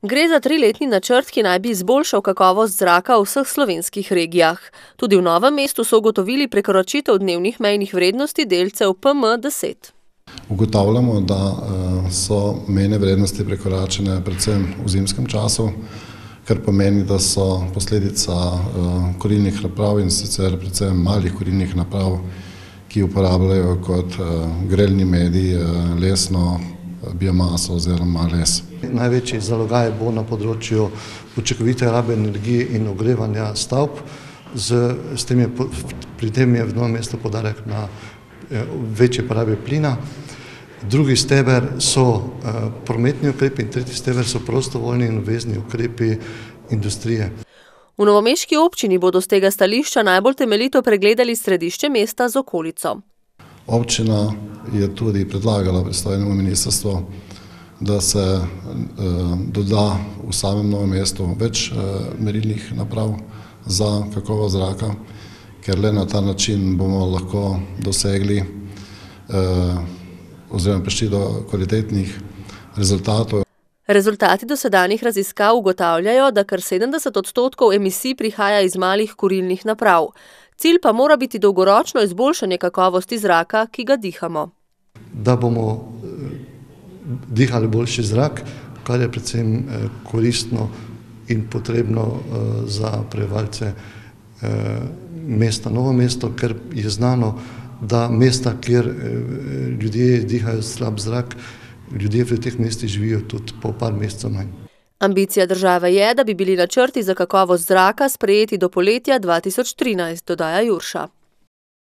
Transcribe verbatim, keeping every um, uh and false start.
Gre za triletni načrt, ki naj bi izboljšal kakovost zraka v vseh slovenskih regijah. Tudi v Novem mestu so ugotovili prekoračitev dnevnih mejnih vrednosti delcev P M deset. Ugotavljamo, da so mejne vrednosti prekoračene predvsem v zimskem času, kar pomeni, da so posledica kurilnih naprav in sicer predvsem malih kurilnih naprav, ki uporabljajo kot grelni medij lesno biomaso oziroma les. Največji zalogaj bo na področju učinkovite rabe energije in ogrevanja stavb. Z, s tem je, pri tem je v Novem mestu poudarek na večje porabe plina. Drugi steber so prometni ukrepi in tretji steber so prostovoljni in obvezni ukrepi industrije. V novomeški občini bodo z tega stališča najbolj temeljito pregledali središče mesta z okolico. Občina je tudi predlagala pristojnemu ministrstvu, da se eh, doda v samem Novem mestu več eh, merilnih naprav za kakovost zraka, ker le na ta način bomo lahko dosegli eh, oziroma prišli do kvalitetnih rezultatov. Rezultati dosedanjih raziskav ugotavljajo, da kar sedemdeset odstotkov emisij prihaja iz malih kurilnih naprav. Cilj pa mora biti dolgoročno izboljšanje kakovosti zraka, ki ga dihamo. Da bomo dihali boljši zrak, kar je predvsem koristno in potrebno za prebivalce mesta Novo mesto, ker je znano, da mesta, kjer ljudje dihajo slab zrak, ljudje v teh mestih živijo tudi po par mesecev manj. Ambicija države je, da bi bili načrti za kakovost zraka sprejeti do poletja dva tisoč trinajst, dodaja Jurša.